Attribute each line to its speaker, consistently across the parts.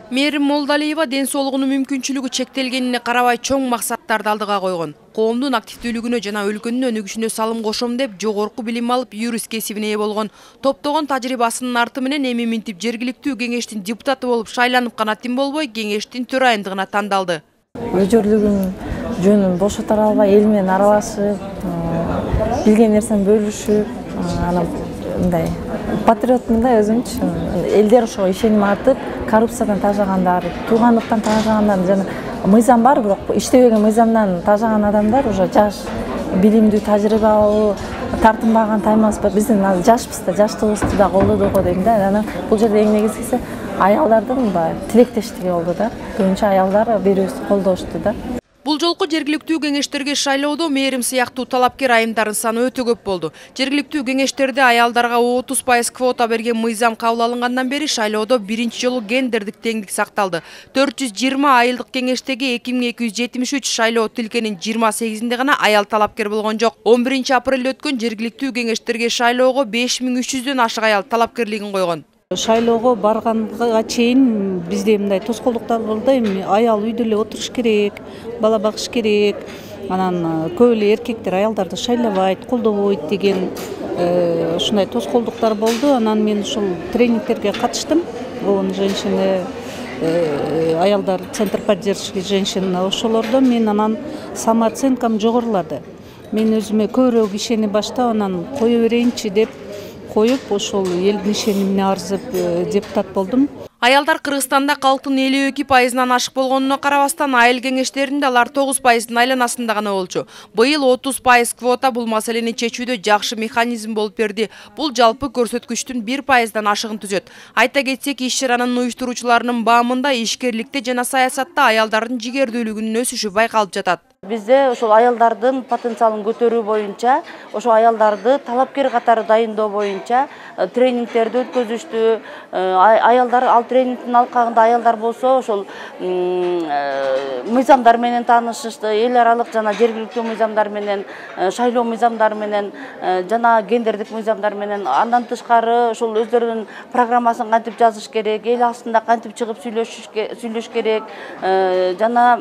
Speaker 1: Мээрим Молдалиева ден соолугунун мүмкүнчүлүгү чектелгенине карабай чоң максаттарды алдыга койгон. Коомдун активдүүлүгүнө жана өлкөнүн өнүгүшүнө салым кошом деп жогорку билим алып юрист кесибине ээ болгон. Топтогон тажрыйбасынын арты менен эми минтип жергиликтүү кеңештин депутаты болуп шайланып гана тим болбой, кеңештин төрайымдыгына тандалды.
Speaker 2: Өжөрлүгүн жөнүн бошотора албай, эл менен аралашып, билген нерсени бөлүшүп, анан мындай патриотмун да өзүмчү. Элдер ошого ишеним артып, коррупциядан тажагандар, туугандыктан тажагандар жана мыйзам бар, бирок иштебеген мыйзамдан тажаган адамдар уже жаш, билимдүү, тажрыйбалуу, тартынбаган, таймаспа. Биздин жашпыз да, жаштыгыбызды да колдоду го дейм да. Анан бул жерде эң негизгиси аялдардын тилектештиги болду да. Көбүнчө аялдар бири-бирибизди колдошту да.
Speaker 1: Бул жолку жергиликтүү кеңештерге шайлоодо мээрим сыяктуу талапкер айымдардын саны өтө көп болду. Жергиликтүү кеңештерде аялдарга 30% квота берген мыйзам кабыл алынгандан бери шайлоодо биринчи жолу гендердик теңдик сакталды. 420 айылдык кеңештеги 2273 шайлоо тилкенин 28-инде гана аял талапкер болгон жок. 11 апрелде өткөн жергиликтүү кеңештерге шайлоого 5300дөн ашык аял талапкерлигин койгон.
Speaker 3: Шайлоого барганга чейин бизде мындай тоскоолдуктар болду. Эми аял үйдө эле отуруш керек, бала багыш керек. Анан көп эле эркектер аялдарды шайлабайт, колдобойт деген ушундай тоскоолдуктар болду. Анан мен ушул тренингтерге катыштым. ООН женщины, аялдар, Центр поддержки женщин, ошолордо мен анан самооценкам жогорулады. Мен өзүмө көбүрөөк ишенип баштап, анан кое берейинчи деп коюп, ошол элдин ишенимине арзып депутат болдум.
Speaker 1: Аялдар Кыргызстанда калктын 52%-дан ашык болгонуна карабастан, айыл кеңештеринде алар 9%-дын айланасында гана болчу. Быйыл 30% квота бул маселени чечүүдө жакшы механизм болуп берди. Бул жалпы көрсөткүчтүн 1%-дан ашыгын түзөт. Айта кетсек, иш-чаранын уюштуруучуларынын баамында ишкерликте жана саясатта аялдардын жигердүүлүгүнүн өсүшү байкалып жатат.
Speaker 4: Бизде ошол аялдардын потенциалын көтөрүү боюнча, ошол аялдарды талапкер катары дайындоо боюнча тренингтерди өткөзүштү. Аялдар ал тренингдин алкагында аялдар болсо ошол мыйзамдар менен таанышышты, эл аралык жана жергиликтүү мыйзамдар менен, шайлоо мыйзамдары менен жана гендердик мыйзамдар менен. Андан тышкары ошол өздөрүнүн программасын кантип жазыш керек, эл астында кантип чыгып сүйлөшүш керек жана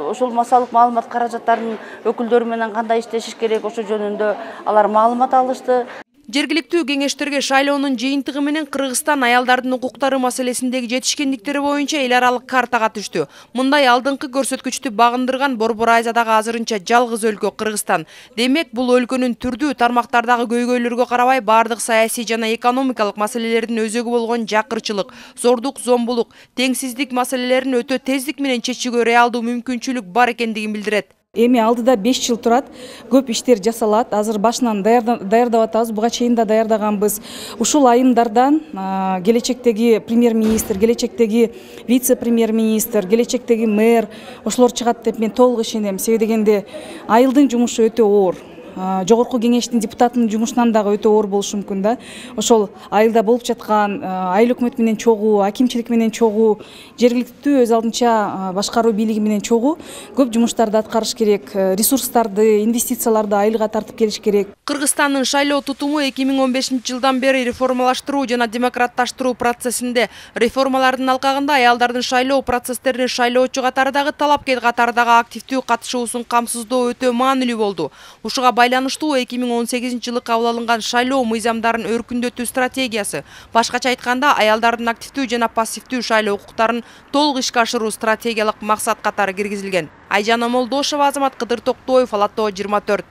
Speaker 4: ошол массалык маалымат каражаттарынын өкүлдөрү менен кандай иштешиш керек, ошол жөнүндө алар маалымат алышты.
Speaker 1: Жергиликтүү кеңештерге шайлоонун жыйынтыгы менен Кыргызстан аялдардын укуктары маселесиндеги жетишкендиктери боюнча эл аралык картага түштү. Мындай алдыңкы көрсөткүчтү багындырган Борбор Азиядагы азырынча жалгыз өлкө Кыргызстан. Демек, бул өлкөнүн түрдүү тармактардагы көйгөйлөргө карабай бардык саясий жана экономикалык маселелердин өзөгү болгон жакырчылык, зордук, зомбулук, теңсиздик маселелерин өтө тездик менен чечүүгө реалдуу мүмкүнчүлүк бар экендигин билдирет.
Speaker 3: Эми алдыда 5 жыл турат, көп иштер жасалат. Азыр башынан даярдап атабыз, буга чейин да даярдаганбыз. Ушул айымдардан келечектеги премьер-министр, келечектеги вице-премьер-министр, келечектеги мэр ошолор чыгат деп мен толук ишенем. Себеби дегенде айылдын жумушу өтө оор. Жогорку кеңештин депутатынын жумушунан дагы өтө оор болушу мүмкүн да. Ошол айылда болуп жаткан айыл өкмөт менен чогуу, акимчилик менен чогуу, жергиликтүү өз алдынча башкаруу бийлиги менен чогуу көп жумуштарды аткарыш керек, ресурстарды, инвестицияларды айылга тартып келиш керек.
Speaker 1: Кыргызстандын шайлоо тутуму 2015-жылдан бери реформалаштыруу жана демократташтыруу процессинде. Реформалардын алкагында аялдардын шайлоо процесстерине шайлоочу катарындагы талапкер катарындагы активдүү катышуусун камсыздоо өтө маанилүү болду. Ушуга байланыштуу 2018-жылы кабыл алынган шайлоо мыйзамдарын өркүндөтүү стратегиясы, башкача айтканда аялдардын активдүү жана пассивдүү шайлоо укуктарын толук ишке ашыруу стратегиялык максат катары киргизилген. Айжан Молдошева, Азамат Кыдыр Токтоев, Ала Тоо 24.